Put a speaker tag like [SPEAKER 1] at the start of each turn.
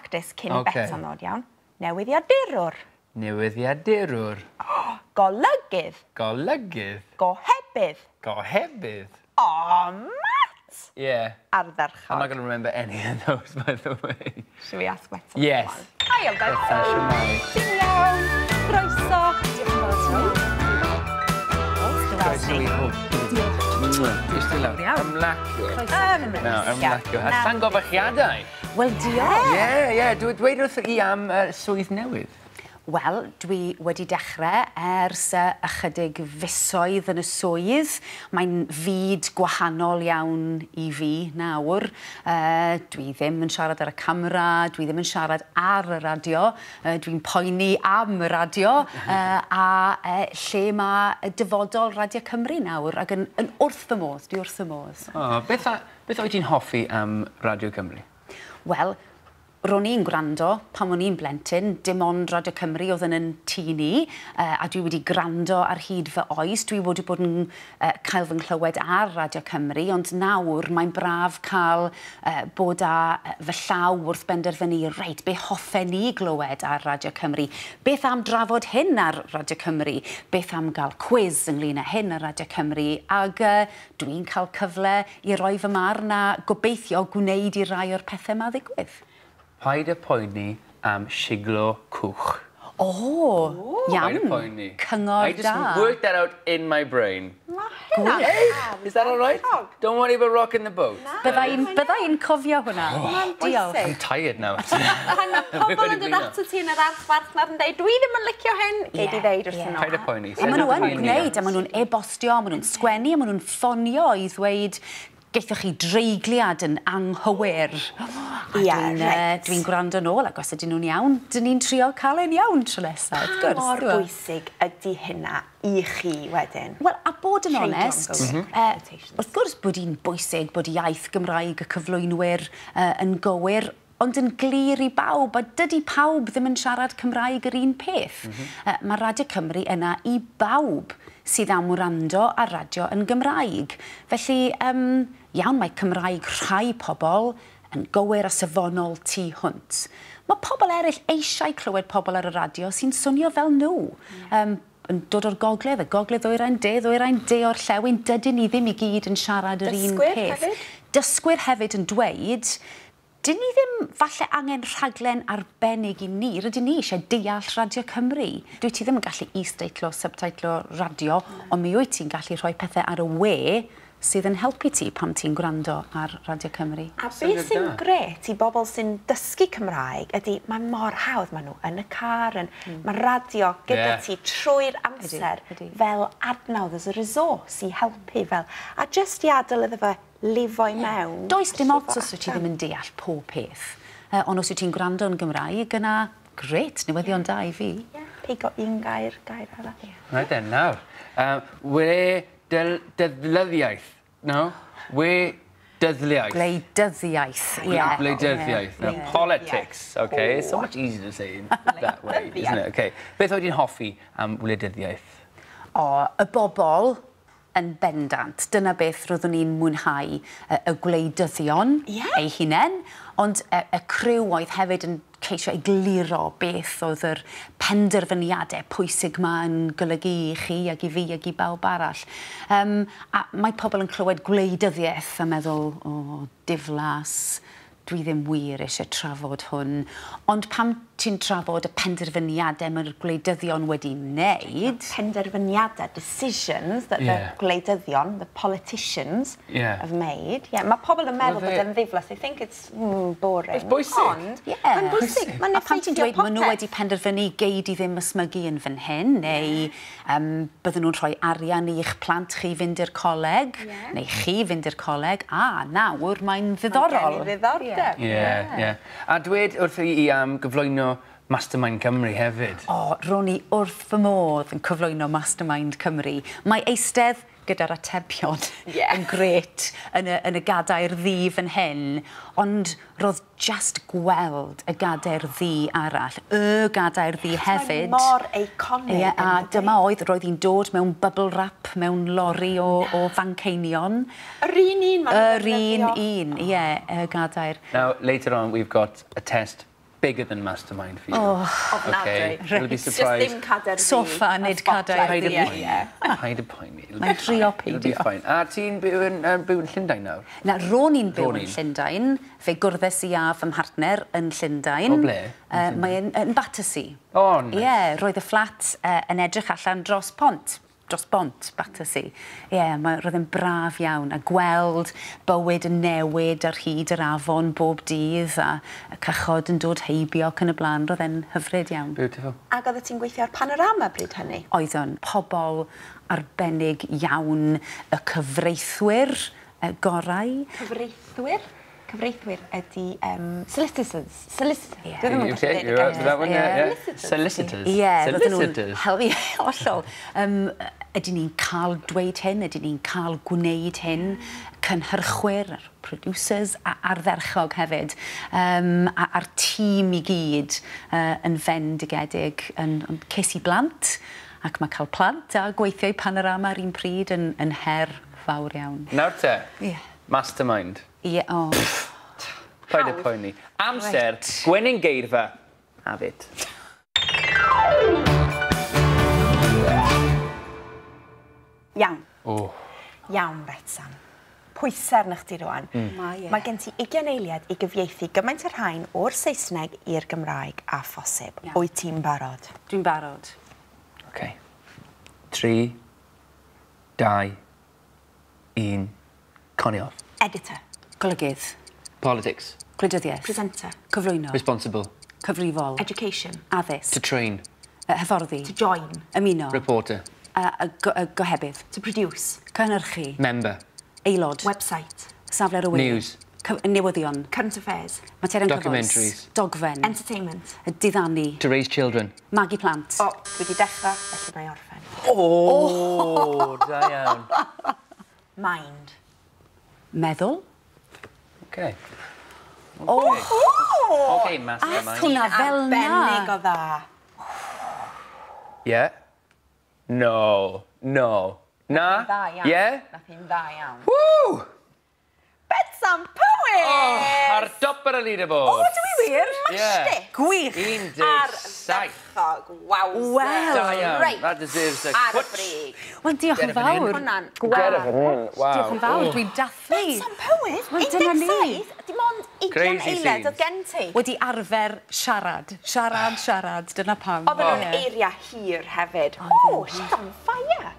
[SPEAKER 1] practice cyn Betsan ddod, iawn. Newyddiadurwr.
[SPEAKER 2] Newyddiadurwr.
[SPEAKER 1] Golygydd.
[SPEAKER 2] Golygydd.
[SPEAKER 1] Gohebydd.
[SPEAKER 2] Gohebydd.
[SPEAKER 1] Oh, Matt!
[SPEAKER 2] Yeah.
[SPEAKER 1] Ardderchog.
[SPEAKER 2] I'm not going to remember any of those, by the way.
[SPEAKER 1] Should we ask Betsan?
[SPEAKER 2] Yes.
[SPEAKER 1] Hiya, Betsan.
[SPEAKER 2] Betsan, shwmae?
[SPEAKER 1] Ti'n iawn? Croeso.
[SPEAKER 3] Diolch yn fawr.
[SPEAKER 2] Croeso i hwb. Diolch. Eistedd lawr. Ymlacio. Nawr, ymlacio. A llongyfarchiadau.
[SPEAKER 3] Wel, diolch.
[SPEAKER 2] Ie. Dweud wrth i am swydd newydd.
[SPEAKER 3] Wel, dwi wedi dechrau ers ychydig fisoedd yn y swydd. Mae'n fyd gwahanol iawn i fi nawr. Dwi ddim yn siarad ar y camera, dwi ddim yn siarad ar y radio. Dwi'n poeni am y radio a lle mae dyfodol Radio Cymru nawr ac yn wrth fy modd, dwi wrth fy modd.
[SPEAKER 2] Oh, beth wyt ti'n hoffi am Radio Cymru?
[SPEAKER 3] Wel, ro'n i'n gwrando pan o'n i'n blentyn, dim ond Radio Cymru oedd yn tŷ ni, a dwi wedi gwrando ar hyd fy oes. Dwi wedi bod yn cael fy nghlywed ar Radio Cymru, ond nawr mae'n braf cael bod â fy llaw wrth benderfynu, reit, be hoffen ni glywed ar Radio Cymru? Beth am drafod hyn ar Radio Cymru? Beth am gael cwis ynglyn â hyn ar Radio Cymru? Ac dwi'n cael cyfle i roi fy marn a gobeithio gwneud i rai o'r pethau yma ddigwydd.
[SPEAKER 2] Paid â poeni am siglo cwch.
[SPEAKER 3] O, iawn.
[SPEAKER 2] Paid â poeni.
[SPEAKER 3] Cyngor
[SPEAKER 2] I just
[SPEAKER 3] da.
[SPEAKER 2] worked that out in my brain.
[SPEAKER 1] Gwych.
[SPEAKER 2] Is that all right? Don't worry about rocking the boat.
[SPEAKER 3] Bydda i'n cofio hwnna. Diolch.
[SPEAKER 2] I'm tired now.
[SPEAKER 1] Pan mae pobl yn dod ato ti yn yr archfarchnad yn dweud, "Dwi ddim yn licio hyn," gei di ddeud wrthyn nhw.
[SPEAKER 2] Paid â poeni.
[SPEAKER 3] A maen nhw yn gwneud, a maen nhw'n e-bostio, maen nhw'n sgwennu, a maen nhw'n ffonio i ddweud, "Geithoch chi dreigliad yn anghywir." A dwi'n gwrando nôl, ac os ydyn nhw'n iawn, dyn ni'n trio cael e'n iawn tro nesaf, wrth gwrs.
[SPEAKER 1] Mor
[SPEAKER 3] T'mo'?
[SPEAKER 1] bwysig ydy hynna i chi wedyn?
[SPEAKER 3] Wel, a bod yn
[SPEAKER 1] Treiglo'n
[SPEAKER 3] onest,
[SPEAKER 1] gywir.
[SPEAKER 3] wrth gwrs bod hi'n bwysig bod iaith Gymraeg y cyflwynwyr yn gywir, ond yn glir i bawb, a dydy pawb ddim yn siarad Cymraeg yr un peth. Mae Radio Cymru yna i bawb sydd am wrando ar radio yn Gymraeg. Felly, iawn, mae Cymraeg rhai pobl yn gywir a safonol tu hwnt. Mae pobl eraill eisiau clywed pobl ar y radio sy'n swnio fel nhw. Yn dod o'r gogledd, y gogledd ddwyrain, de ddwyrain, de orllewin, dydyn ni ddim i gyd yn siarad yr un
[SPEAKER 1] Dysgwyr
[SPEAKER 3] peth.
[SPEAKER 1] hefyd?
[SPEAKER 3] Dysgwyr hefyd yn dweud, dyn ni ddim falle angen rhaglen arbennig i ni, rydyn ni eisiau deall Radio Cymru. Dwi ti ddim yn gallu is-deitlo, subtitlo radio, ond mi wyt ti'n gallu rhoi pethau ar y we sydd yn helpu ti pan ti'n gwrando ar Radio Cymru.
[SPEAKER 1] A beth
[SPEAKER 2] Syniad
[SPEAKER 1] sy'n
[SPEAKER 2] da.
[SPEAKER 1] gret i bobl sy'n dysgu Cymraeg ydy mae mor hawdd, maen nhw yn y car, yn, mae radio gyda ti trwy'r amser fel adnodd, as a resource i helpu fel, a just i adael iddo fe lifo i mewn.
[SPEAKER 3] Does dim
[SPEAKER 1] llifo
[SPEAKER 3] ots os wyt ti
[SPEAKER 1] allan.
[SPEAKER 3] ddim yn deall pob peth. Ond os wyt ti'n gwrando yn Gymraeg, yna, gret, newyddion da i fi.
[SPEAKER 1] Ie, pigo un gair, gair arall.
[SPEAKER 2] Right then, nawr. We dyddlyddiaeth. No? We dyddliaeth.
[SPEAKER 3] Gwleidyddiaeth, ie.
[SPEAKER 2] Gwleidyddiaeth. Now, politics, okay? It's so much easier to say in that way, isn't it? Okay. Beth oed ti'n hoffi am wleidyddiaeth?
[SPEAKER 3] O, y bobl yn bendant. Dyna beth roeddwn i'n mwynhau, y gwleidyddion eu hunain, ond y criw oedd hefyd yn ceisio egluro beth oedd yr penderfyniadau pwysig ma yn golygu i chi ac i fi ac i bawb arall. A mae pobl yn clywed gwleidyddiaeth a meddwl, "O, diflas, dwi ddim wir eisiau trafod hwn." Ond pam ti'n trafod y penderfyniadau mae'r gwleidyddion wedi wneud...
[SPEAKER 1] Penderfyniadau, decisions that the gwleidyddion, the politicians, have made. Yeah, mae pobl yn meddwl
[SPEAKER 2] Wel,
[SPEAKER 1] bod e'n ddiflas. They think it's boring.
[SPEAKER 2] It's bwysig.
[SPEAKER 1] Ond, mae'n bwysig. Mae'n
[SPEAKER 3] A pan ti'n
[SPEAKER 1] effeithio
[SPEAKER 3] dweud maen nhw
[SPEAKER 1] popeth.
[SPEAKER 3] wedi penderfynu gei di ddim ysmygu yn fan hyn, neu bydden nhw'n rhoi arian i'ch plant chi fynd i'r coleg, neu chi fynd i'r coleg, a nawr mae'n ddiddorol.
[SPEAKER 1] Gen i ddiddordeb.
[SPEAKER 2] Ie. A dweud wrth i am gyflwyno Mastermind Cymru hefyd.
[SPEAKER 3] O, ro'n i wrth fy modd yn cyflwyno Mastermind Cymru. Mae eistedd gyda'r atebion yn gret yn y gadair ddu fan hyn, ond roedd just gweld y gadair ddu arall, y gadair ddu hefyd.
[SPEAKER 1] Mae mor iconic.
[SPEAKER 3] Ie, a
[SPEAKER 1] yn dydi?
[SPEAKER 3] dyma oedd, roedd hi'n dod mewn bubble wrap, mewn lori o Fanceinion.
[SPEAKER 1] Yr un un maen nhw'n
[SPEAKER 3] Yr un
[SPEAKER 1] defnyddio.
[SPEAKER 3] un, ie, y gadair.
[SPEAKER 2] Now, later on, we've got a test. bigger than Mastermind for you.
[SPEAKER 3] Oh,
[SPEAKER 2] okay.
[SPEAKER 1] Ofnadwy.
[SPEAKER 2] You'll be
[SPEAKER 1] Just
[SPEAKER 2] surprised.
[SPEAKER 1] ddim cadair fi.
[SPEAKER 3] Soffa, nid cadair
[SPEAKER 2] Paid
[SPEAKER 3] fi.
[SPEAKER 2] â poeni. Paid â poeni. It'll be
[SPEAKER 3] Mae'n trio
[SPEAKER 2] fine. It'll be
[SPEAKER 3] peidio.
[SPEAKER 2] fine. A ti'n byw yn, byw yn Llundain nawr?
[SPEAKER 3] Na, ro'n i'n byw
[SPEAKER 2] Ro'n
[SPEAKER 3] yn
[SPEAKER 2] i'n.
[SPEAKER 3] Llundain. Fe gwrddes i a fy mhartner yn Llundain.
[SPEAKER 2] O ble?
[SPEAKER 3] Mae'n yn Battersea.
[SPEAKER 2] O, nice.
[SPEAKER 3] Ie, yeah, roedd y fflat yn edrych allan dros pont. Dros bont, Battersea. Ie, yeah, roedd yn braf iawn a gweld bywyd yn newid ar hyd yr afon bob dydd a y cychod yn dod heibio ac yn y blaen. Roedd e'n hyfryd iawn.
[SPEAKER 2] Beautiful.
[SPEAKER 1] Ac oeddet ti'n gweithio ar Panorama bryd hynny?
[SPEAKER 3] Oedd o'n pobl arbennig iawn, y cyfreithwyr gorau.
[SPEAKER 1] Cyfreithwyr? Cyfreithwyr ydy solicitors. Solicitors.
[SPEAKER 3] Ie.
[SPEAKER 1] Dwi ddim yn gallu
[SPEAKER 2] Okay,
[SPEAKER 1] deud y
[SPEAKER 2] you're right
[SPEAKER 1] gair.
[SPEAKER 2] with that one, yeah, yeah.
[SPEAKER 1] Solicitors.
[SPEAKER 2] Solicitors.
[SPEAKER 3] Ie, roedden nhw'n
[SPEAKER 2] Solicitors.
[SPEAKER 3] hel- ie, hollol. Ydyn ni'n cael dweud hyn, ydyn ni'n cael gwneud hyn, cynhyrchwyr, a'r producers, a ardderchog hefyd, a'r tîm i gyd yn fendigedig, yn ces i blant, ac mae cael plant a gweithio i Panorama ar un pryd yn her fawr iawn.
[SPEAKER 2] Nawr te,
[SPEAKER 3] Ie.
[SPEAKER 2] Mastermind.
[SPEAKER 3] Ie, o.
[SPEAKER 2] Paid â poeni. Amser, gwenyn geirfa, have it.
[SPEAKER 1] Iawn.
[SPEAKER 2] Oh.
[SPEAKER 1] Iawn, Betsan. Pwysau arna chdi rwan.
[SPEAKER 3] Mae e.
[SPEAKER 1] Mae gen ti 20 eiliad i gyfieithu gymaint o'r rhain o'r Saesneg i'r Gymraeg a phosib.
[SPEAKER 3] Iawn.
[SPEAKER 1] Wyt ti'n barod?
[SPEAKER 3] Dwi'n barod.
[SPEAKER 2] Okay. 3, 2, 1, Connie off.
[SPEAKER 1] Editor.
[SPEAKER 3] Golygydd.
[SPEAKER 2] Politics.
[SPEAKER 3] Gwleidyddiaeth.
[SPEAKER 1] Presenter.
[SPEAKER 3] Cyflwyno.
[SPEAKER 2] Responsible.
[SPEAKER 3] Cyfrifol.
[SPEAKER 1] Education.
[SPEAKER 3] Addysg.
[SPEAKER 2] To train.
[SPEAKER 3] Hyfforddi.
[SPEAKER 1] To join.
[SPEAKER 3] Ymuno.
[SPEAKER 2] Reporter.
[SPEAKER 3] Gohebydd.
[SPEAKER 1] To produce.
[SPEAKER 3] Cynhyrchu.
[SPEAKER 2] Member.
[SPEAKER 3] Aelod.
[SPEAKER 1] Website.
[SPEAKER 3] Safle ar y we.
[SPEAKER 2] News.
[SPEAKER 3] Newyddion.
[SPEAKER 1] Current affairs.
[SPEAKER 3] Materion cyfoes.
[SPEAKER 2] Documentaries.
[SPEAKER 3] Dogfen.
[SPEAKER 1] Entertainment.
[SPEAKER 3] Diddanu.
[SPEAKER 2] To raise children.
[SPEAKER 3] Magu plant.
[SPEAKER 1] O, dwi wedi dechrau, felly mae orffen.
[SPEAKER 2] Oh, da iawn.
[SPEAKER 1] Mind.
[SPEAKER 3] Meddwl.
[SPEAKER 2] Okay.
[SPEAKER 3] O!
[SPEAKER 2] Okay, mastermind.
[SPEAKER 3] Hwnna fel na.
[SPEAKER 1] Arbennig o dda.
[SPEAKER 2] Yeah. No. No. Na?
[SPEAKER 1] Dda iawn.
[SPEAKER 2] Yeah?
[SPEAKER 1] Nath hi'n dda iawn.
[SPEAKER 2] Woo!
[SPEAKER 1] Betsan Powys!
[SPEAKER 2] Oh, ar dop ar y leaderboard.
[SPEAKER 1] O, dwi wir?
[SPEAKER 2] Yeah.
[SPEAKER 1] Smashed it.
[SPEAKER 3] Gwych.
[SPEAKER 2] 17.
[SPEAKER 1] Ardderchog. Waw.
[SPEAKER 3] Wel.
[SPEAKER 2] Da iawn.
[SPEAKER 1] Reit.
[SPEAKER 2] That deserves a
[SPEAKER 1] Ar y
[SPEAKER 2] cwtch.
[SPEAKER 1] brig.
[SPEAKER 3] Wel, diolch yn
[SPEAKER 2] Get it fan hyn.
[SPEAKER 3] fawr.
[SPEAKER 1] Hwnna'n
[SPEAKER 2] Get it fan hyn. Wow.
[SPEAKER 3] Diolch yn fawr, dwi'n dathlu.
[SPEAKER 1] Betsan Powys,
[SPEAKER 3] Wel, dyna ni.
[SPEAKER 1] 17, dim ond 20
[SPEAKER 2] Crazy
[SPEAKER 1] eiliad
[SPEAKER 2] scenes.
[SPEAKER 1] oedd gen ti.
[SPEAKER 3] Wedi arfer siarad. Siarad, siarad, dyna pam.
[SPEAKER 1] Oedden nhw'n
[SPEAKER 3] Ie.
[SPEAKER 1] eiriau hir hefyd.
[SPEAKER 3] Oedden
[SPEAKER 1] Oh, she's on fire.